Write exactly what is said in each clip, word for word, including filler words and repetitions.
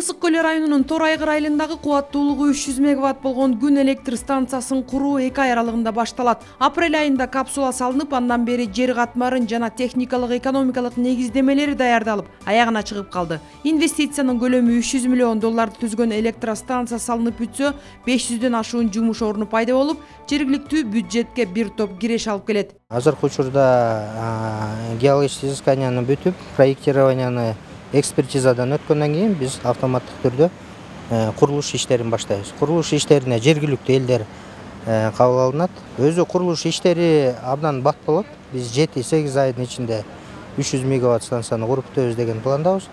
Ысык Көл районунун Тор Айгыр айылындагы кубаттуулугу үч жүз мегаватт болгон күн электр станциясын куруу эки ай аралыгында башталат. Апрель айында капсула салынып, андан бери жер катмарын жана техникалык экономикалык негиздемелери даярдалып, аягына чыгып калды. Инвестициянын көлөмү үч жүз миллион долларды түзгөн электростанция салынып бүтсө, беш жүздөн ашуун жумуш орну пайда болуп, жергиликтүү бюджетке бир топ киреш алып келет. Азыркы учурда геологический изысканияны бүтүп, проектированияны экспертизадан өткөндөн кийин биз автоматтык түрдө курулуш иштерин баштайбыз. Курулуш иштерине жергиликтүү элдер кабыл алынат. Өзү курулуш иштери абдан бат болот. Биз жети сегиз айдын ичинде үч жүз мегаватт станцияны куруп бүтөбүз деген пландабыз.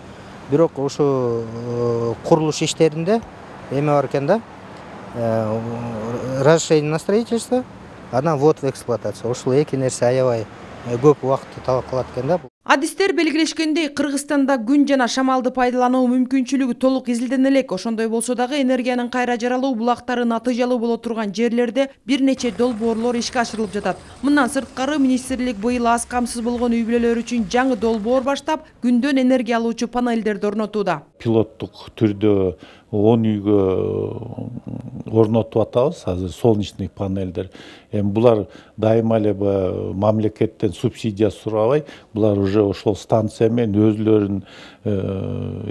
Бирок ушу курулуш иштеринде эме бар экен да, разрешение на строительство, анан ввод в эксплуатация. Ушул эки нерсе аябай көп убакытты талап кылат экен да. Адистер белгилешкендей, Кыргызстанда күн жана шамалды пайдалануу мүмкүнчүлүгү толук изилдене элек. Ошондой болсо дагы энергиянын кайра жаралуу булактары натыйжалуу боло турган жерлерде бир нече долбоорлор ишке ашырылып жатат. Мындан сырткары, министрлик быйыл аз камсыз болгон үй бүлөлөр үчүн жаңы долбоор баштап, күндөн энергия алуучу панелдерди орнотууда. Пилоттук түрдө он үйгө орнотуп атабыз азыр солнечный панелдер. Эми булар дайыма эле мамлекеттен субсидия сурабай, булар уже ошол станция менен өзүлөрүн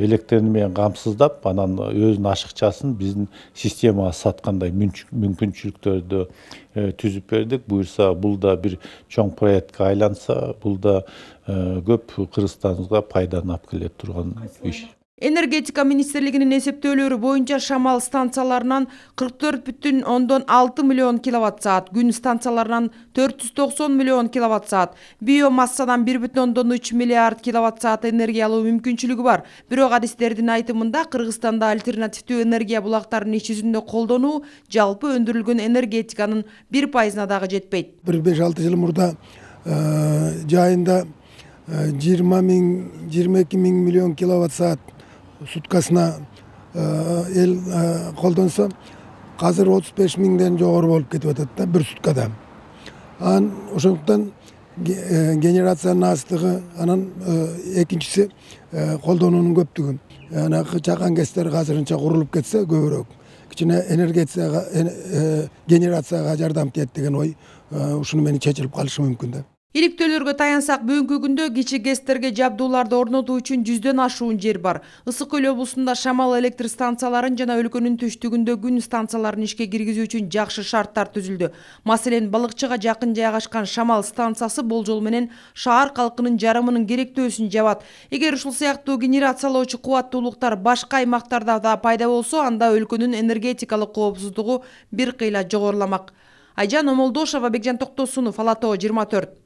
электрини менен камсыздап, анан өзүнүн ашыкчасын биздин системага саткандай мүмкүнчүлүктөрдү түзүп бердик. Буюрса, бул да бир чоң проектке айланса, бул да көп Кыргызстанга пайданы алып келе турган иш. Энергетика министрлигинин эсептөөлөрү боюнча шамал станцияларынан кырк төрт бүтүн ондон алты миллион киловатт саат, күн станцияларынан төрт жүз токсон миллион киловатт саат, биомассадан бир бүтүн ондон үч миллиард киловатт саат энергия алуу мүмкүнчүлүгү бар. Бирок адистердин айтымында, Кыргызстанда альтернативдүү энергия булактарын иш жүзүндө колдонуу жалпы өндүрүлгөн энергетиканын бир пайызына дагы жетпейт. бир беш алты жыл мурда жайында жыйырма миң жыйырма эки миң миллион киловатт саат суткасына эл колдонсо, азыр отуз беш миңден жогору болуп кетип атат да бир суткада. Анан ошондуктан генерациянын азтыгы, анан экинчиси колдонуунун көптүгү. Анакы чакан кестер азырынча курулуп кетсе көбүрөөк, кичине энергетикага, генерацияга жардам тиет деген ой ушуну менен чечилип калышы мүмкүн да. Иликтөөлөргө таянсак, бүгүнкү күндө кичи гэстерге жабдууларды орнотуу үчүн жүздөн ашуун жер бар. Ысык Көл облусунда шамал электр станцияларын жана өлкөнүн түштүгүндө күн станцияларын ишке киргизүү үчүн жакшы шарттар түзүлдү. Маселен, Балыкчыга жакын жайгашкан шамал станциясы болжол менен шаар калкынын жарымынын керектөөсүн жабат. Эгер ушул сыяктуу генерациялоочу кубаттуулуктар башка аймактарда да пайда болсо, анда өлкөнүн энергетикалык коопсуздугу бир кыйла жогоруламак. Айжан Омолдошова, Бекжан Токтосунов, Ала Тоо жыйырма төрт.